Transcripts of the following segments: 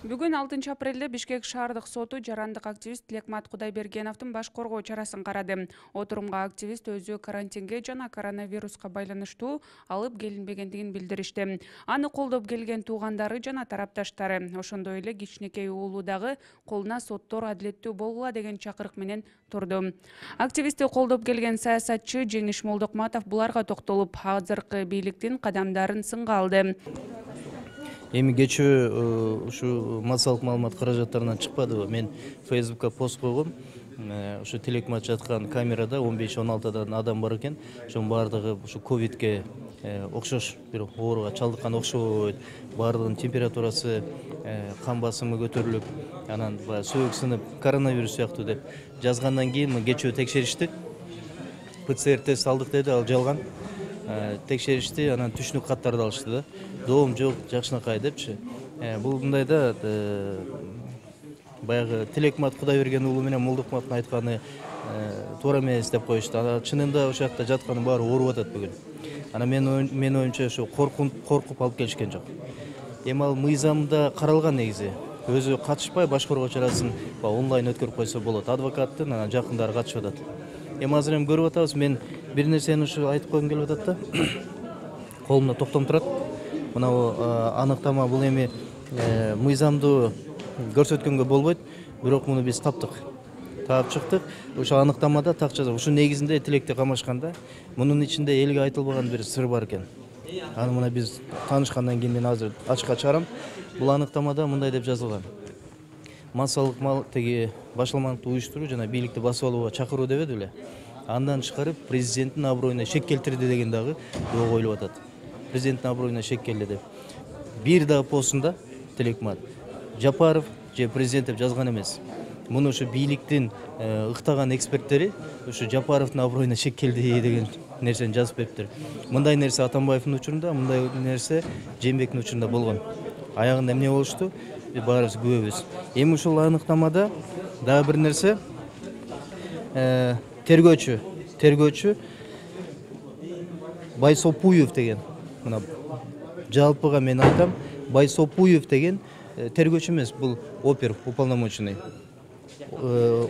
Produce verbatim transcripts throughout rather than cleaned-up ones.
Бүгүн алтынчы апрелде Бишкек шаардык соту жарандык активист Тилекмат Кудайбергеновдун баш коргоо чарасын карады. Отурумга активист өзү карантинге жана коронавируска байланыштуу алып келинбегендигин билдиришти. Аны колдоп келген туугандары жана тарапташтары, ошондой эле кичинекей уулу дагы колуна соттор адилеттүү болгула деген чакырык менен турду. Активистти колдоп келген саясатчы Жеңиш Молдокматов буларга токтолуп, азыркы бийликтин кадамдарын сынга алды. Эми кечээ ушу массалык маалымат каражаттарынан чыкпадыбы? Мен Фейсбукка пост койгом. Ушу Тилекмат жаткан камерада он беш он алтыдан адам бар экен. Ошонун баардыгы ушу ковидке окшош бир ооруга чалдыккан окшойт. Баардыгынын температурасы, кан басымы көтөрүлүп, анан баягы сөөгү сынып, коронавирус сыяктуу деп жазгандан кийин кечээ текшеришти. ПЦР тест алдык деди, ал жалган. Текшеришти, анан түшүнүк каттарды алышты да. Доом жок, жакшынакай депчи. Бул мындайда баягы Тилекмат Кудайберген уулу менен Молдокматтын айтканы туура эмес деп коюшту. Чынында ошол жакта жатканын баары ооруп атат бүгүн. Анан мен мен оюмча ошо коркуп алып келишкен жок. Эми ал мыйзамда каралган негизи. Өзү катышпай баш коргоо чарасын онлайн өткөрүп койсо болот. Адвокаттын анан жакындары катышып атат. Эми азыр эми көрүп атабыз, мен бир нерсени ушу айтып койгум келип атат да. Колумда токтом турат. Мына аныктама бул эми мыйзамды көрсөткөнгө болбойт, бирок муну биз таптык. Таап чыктык. Ошо аныктамада так жазат. Ушу негизинде тилекти камашканда мунун ичинде элге айтылбаган бир сыр бар экен. Аны мына биз таанышкандан кийин мен азыр ачыкка чыгарам. Бул аныктамада мындай деп жазылган. Массалык мал теги башаламандыкты уюштуруу жана бийликти басып алууга чакыруу дебеди беле? Андан чыгарып президенттин аброюна шек келтирди деген дагы доо коюлуп атат. Президенттин аброюна шек келди деп. Бир дагы постунда Тилекмат Жапаров же президент деп жазган эмес. Муну ушу бийликтин ыктаган эксперттери ушу Жапаровдун аброюна шек келди деген нерсени жазып бериптир. Мындай нерсе Атамбаевдин учурунда, мындай нерсе Жээнбектин учурунда болгон. Аягында эмне болушту? Баарыбыз күбөбүз. Эми ушул аныктамада дагы бир нерсе, тергөөчү, тергөөчү Байсопуев деген, мына жалпыга мен айтам, Байсопуев деген тергөөчү эмес, бул опер, уполномоченный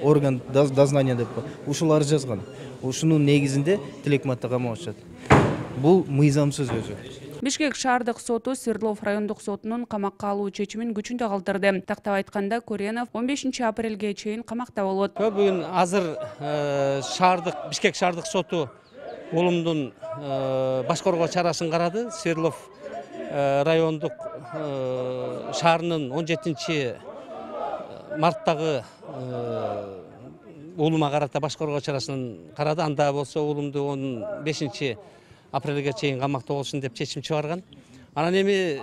орган дознания деп ушулар жазган. Ушунун негизинде Тилекматты камап атышат. Бул мыйзамсыз өзү. Бишкек шаардык соту Свердлов райондук сотунун камакка алуу чечимин күчүндө калтырды. Тактап айтканда, Коренов он бешинчи апрелге чейин камакта болот. Бүгүн азыр шаардык Бишкек шаардык соту уулумдун баш коргоо чарасын карады. Свердлов райондук шаарынын он жетинчи марттагы уулума карата баш коргоо чарасын карады. Анда болсо уулумду он бешинчи апрелге чейин камакта болушун деп чечим чыгарган. Анан эми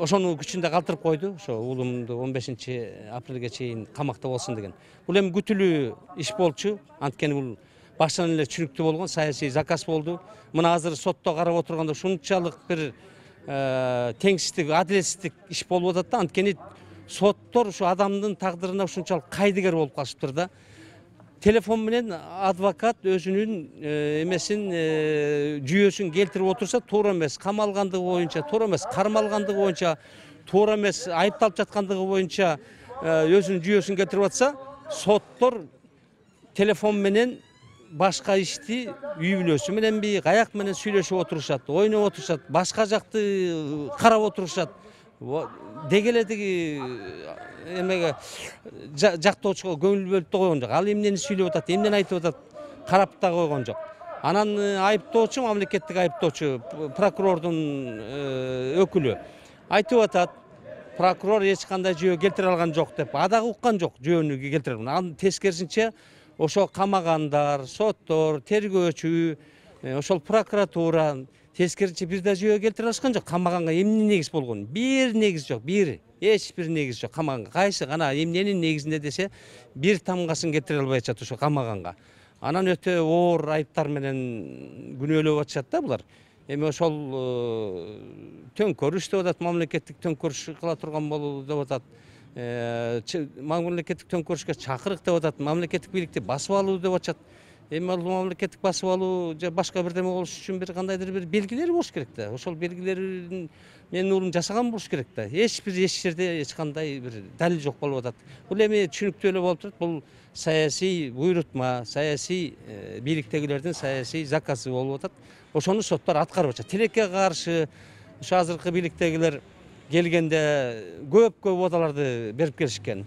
ошону күчүндө калтырып койду. Ошо уулумду он бешинчи апрелге чейин камакта болсун деген. Бул эми күтүлүү иш болчу. Анткени бул башынан эле түшүнүктүү болгон, саясий заказ болду. Мына азыр сотто карап отурганда ушунчалык бир теңсиздик, адилетсиздик иш болуп атат да. Анткени соттор ушу адамдын тагдырына ушунчалык кайдыгер болуп калышыптыр да. Телефон менен адвокат өзүнүн эмесин жүйөсүн келтирип отурса туура эмес, камалгандыгы боюнча туура эмес, кармалгандыгы боюнча туура эмес, айыпталып жаткандыгы боюнча өзүнүн жүйөсүн келтирип атса, соттор телефон менен башка ишти үй бүлөсү мененби, каяк менен сүйлөшүп отурушат, ойноп отурушат, башка жакты карап отурушат. Деги эле тиги эмеге жактоочуга көңүл бөлүп да койгон жок. Ал эмнени сүйлөп атат, эмнени айтып атат, карап да койгон жок. Анан айыптоочу, мамлекеттик айыптоочу, прокурордун өкүлү айтып атат, прокурор эч кандай жүйө келтире алган жок деп. Адагы уккан жок жүйөнү келтире алган. Анын тескерисинче ошо камагандар, соттор, тергөөчү, ошол прокуратура тескерисинче бир да жүйө келтире алышкан жок. Камаганга эмне негиз болгон? Бир негиз жок, бир. Эч бир негиз жок камаганга. Кайсы гана эмненин негизинде десе, бир тамгасын келтире албай атышат ошо камаганга. Анан өтө оор айыптар менен күнөөлөп атышат да булар. Эми ошол төңкөрүш деп атат, мамлекеттик төңкөрүш кыла турган болуу деп атат. Мамлекеттик төңкөрүшкө чакырык деп атат, мамлекеттик бийликти басып алуу деп атышат. эми ал мамлекеттик басып алуу же башка бирдеме болуш үчүн бир кандайдыр бир белгилери болуш керек да. Ошол белгилерин менин уулум жасаган болуш керек да. Эч бир эч жерде эч кандай бир далил жок болуп атат. Бул эми түшүнүктүү эле болуп турат. Бул саясий буйрутма, саясий бийликтегилердин саясий заказы болуп атат. Ошону соттор аткарып атышат. Тилекке каршы ушу азыркы бийликтегилер келгенде көп-көп убадаларды берип келишкен.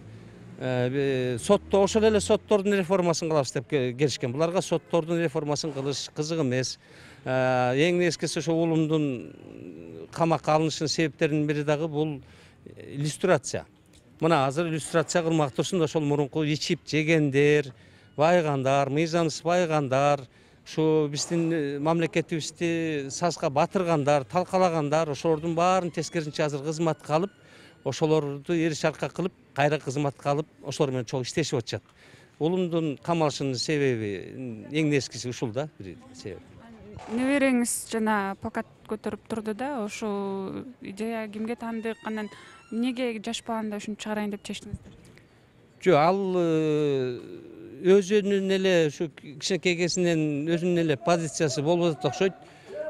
Сотто ошол эле соттордун реформасын кылабыз деп келишкен. Буларга соттордун реформасын кылыш кызык эмес. Эң нечкеси ошо уулумдун камакка алынышынын себептеринин бири дагы бул иллюстрация. Мына азыр иллюстрация кылмак турсун, ошол мурунку ичип жегендер, байгандар, мыйзамсыз байгандар, ушу биздин мамлекетибизди сазга батыргандар, талкалагандар, ошолордун баарын тескерисинче азыр кызматка алып, ошолорду эриш арка кылып, кайра кызматка алып, ошолор менен чогуу иштешип атышат. Уулумдун камалышынын себеби эң нечкеси ушул да, бир себеп. Небереңиз жана плакат көтөрүп турду да, ошол идея кимге таандык, анан эмнеге жашпаганда ушинтип чыгарайын деп чечтиңиздер? Жок, ал өзүнүн эле ушу кичинекей кезинен өзүнүн эле позициясы болуп атат окшойт.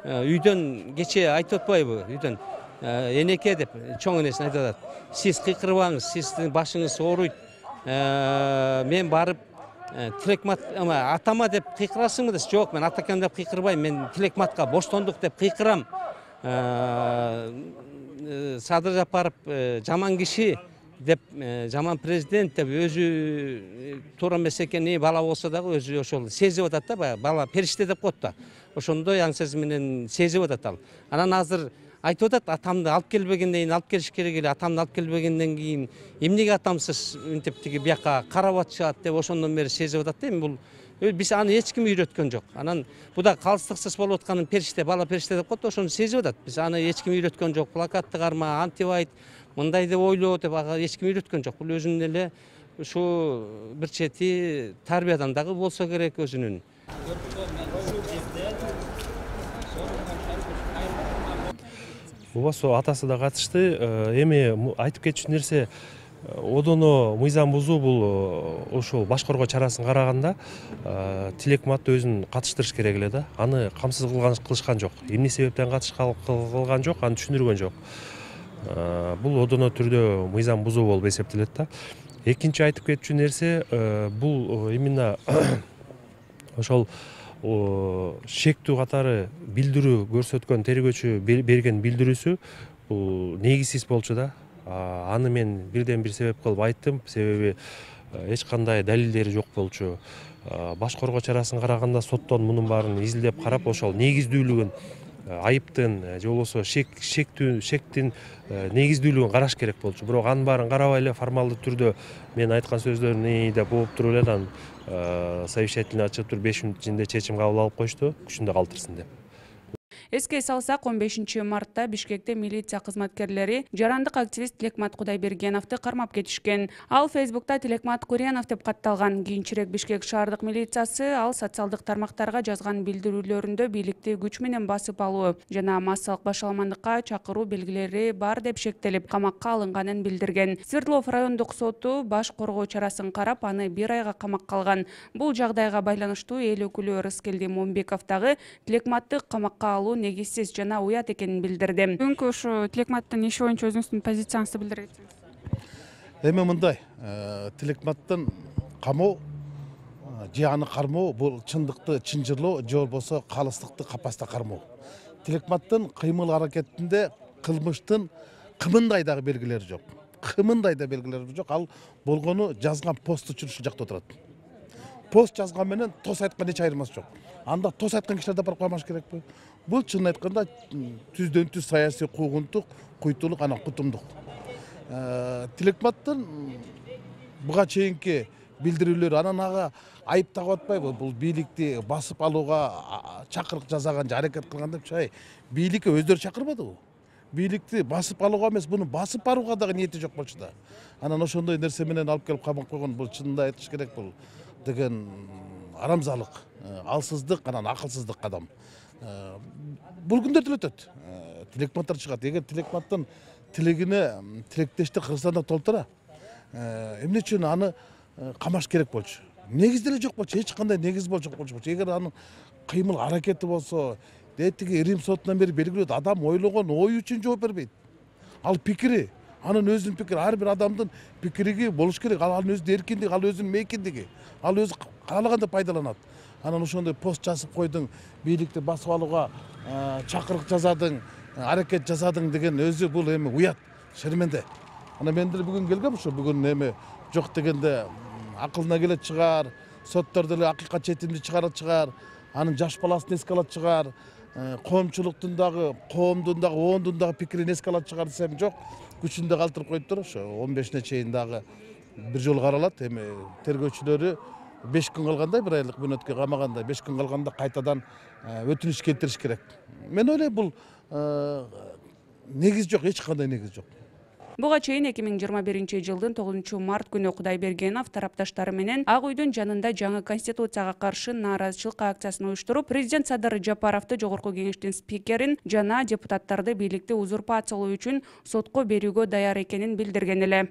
Үйдөн кечээ айтып атпайбы? Үйдөн энеке деп чоң энесин айтып атат. Сиз кыйкырбаңыз, сиздин башыңыз ооруйт. Мен барып тилекмат атама деп кыйкырасыңбы десе, жок, мен атакем деп кыйкырбайм, мен тилекматка боштондук деп кыйкырам. Садыр Жапаров жаман киши деп, жаман президент деп өзү туура эмес экени бала болсо дагы өзү ошол сезип атат да, баягы бала периште деп коет да. Ошондой аң сезим менен сезип атат ал. Анан азыр айтып атат, атамды алып келбегенден кийин, алып келиш керек эле, атамды алып келбегенден кийин эмнеге атамсыз мынтип тиги бияка карап атышат деп ошондон бери сезип атат да. Эми бул биз аны эч ким үйрөткөн жок. Анан бу да калыстыксыз болуп атканын периште, бала периште деп коет, ошону сезип атат. Биз аны эч ким үйрөткөн жок. Плакатты карма, антип айт, мындай деп ойлоо деп ага эч ким үйрөткөн жок. Бул өзүнүн эле ушу бир чети тарбиядан дагы болсо керек өзүнүн. Бубасо атасы да катышты. Эми айтып кетчү нерсе, одоно мыйзам бузуу бул ошол башкаруу чарасын караганда тилекматты өзүн катыштырыш керек эле да. Аны камсыз кылышкан жок. Эмне себептен катышкан кылган жок, аны түшүндүргөн жок. Бул одоно түрдө мыйзам бузуу болуп эсептелет да. Экинчи айтып кетчү нерсе, бул именно ошол шектүү катары билдирүү көрсөткөн тергөөчү берген билдирүүсү бул негизсиз болчу да. Аны мен бирден бир себеп кылып айттым, себеби эч кандай далилдери жок болчу. Башкаруу чарасын караганда соттон мунун баарын изилдеп карап, ошол негиздүүлүгүн, айыптын же болбосо шектүү шектин негиздүүлүгүн караш керек болчу. Бирок анын баарын карабай эле формалдуу түрдө мен айткан сөздөрүн ии деп угуп туруп эле анан совещательный ачып туруп беш мүнөт ичинде чечим кабыл алып коюшту, күчүндө калтырсын деп. Эске салсак, он бешинчи мартта Бишкекте милиция кызматкерлери жарандык активист Тилекмат Кудайбергеновду кармап кетишкен. Ал Фейсбукта Тилекмат Куренов деп катталган. Кийинчерээк Бишкек шаардык милициясы ал социалдык тармактарга жазган билдирүүлөрүндө бийликти күч менен басып алуу жана массалык башаламандыкка чакыруу белгилери бар деп шектелип, камакка алынганын билдирген. Свердлов райондук соту баш коргоо чарасын карап, аны бир айга камакка алган. Бул жагдайга байланыштуу эл өкүлү Рыскелди Момбеков дагы Тилекматты камакка алуу негизсиз жана уят экенин билдирди. Бүгүнкү ушу Тилекматтын иши боюнча өзүңүздүн позицияңызды билдиресиңиз. Эми мындай, Тилекматтын камоо же аны кармоо бул чындыкты чынжырлоо же болбосо калыстыкты капаста кармоо. Тилекматтын кыймыл аракетинде кылмыштын кымындай дагы белгилери жок. Кымындай да белгилери жок. Ал болгону жазган посту үчүн ушул жакта отурат. Пост жазган менен тос айткан эч айырмасы жок. Анда тос айткан кишилерди барып коймош керекпи? Бул чынын айтканда түздөн түз саясий куугунтук, куйтулук, анан кутумдук. Тилекматтын буга чейинки билдирүүлөр анан ага айып тагып атпайбы? Бул бийликти басып алууга чакырык жасаган же аракет кылган деп чай. Бийликке өздөрү чакырбадыбы? Бийликти басып алууга эмес, буну басып барууга дагы ниети жок болчу да. Анан ошондой нерсе менен алып келип камап койгон, бул чынында айтыш керек, бул деген арамзалык, алсыздык, анан акылсыздык кадам. Бул күндөрдө эле өтөт. Тилекматтар чыгат. Эгер Тилекматтын тилегине тилектештер Кыргызстанда толтура, эмне үчүн аны камаш керек болчу? негиз деле жок болчу, эч кандай негиз болчу болчу. Эгер анын кыймыл аракети болсо, тиги Рим сотунан бери белгилеп адам ойлогон ою үчүн жооп бербейт. Ал пикири, анын өзүнүн пикири, ар бир адамдын пикири болуш керек. Ал анын өзүнүн эркиндиги, ал өзүнүн мейкиндиги. Ал өзү каалаганда пайдаланат. Анан ошондой пост жазып койдуң, бийликти басып алууга чакырык жасадың, аракет жасадың деген өзү бул эми уят, шерменде. Ана мен деле бүгүн келгем ушу, бүгүн эми жок дегенде акылына келет чыгар, соттор деле акыйкат четимди чыгарат чыгар, анын жаш баласын эске алат чыгар, коомчулуктун дагы, коомдун дагы, оондун дагы пикирин эске алат чыгар десем жок, күчүндө калтырып коюптур. Ошо он бешине чейин дагы бир жолу каралат. Эми тергөөчүлөрү беш күн калганда, бир айлык мөөнөткө камаганда, беш күн калганда кайтадан өтүнүч келтириш керек. Мен ойлойм, бул негиз жок, эч кандай негиз жок. Буга чейин эки миң жыйырма биринчи жылдын тогузунчу март күнү Кудайбергенов тарапташтары менен Ак үйдүн жанында жаңы конституцияга каршы нааразычылык акциясын уюштуруп, президент Садыр Жапаровду, жогорку кеңештин спикерин жана депутаттарды бийликти узурпациялоо үчүн сотко берүүгө даяр экенин билдирген эле.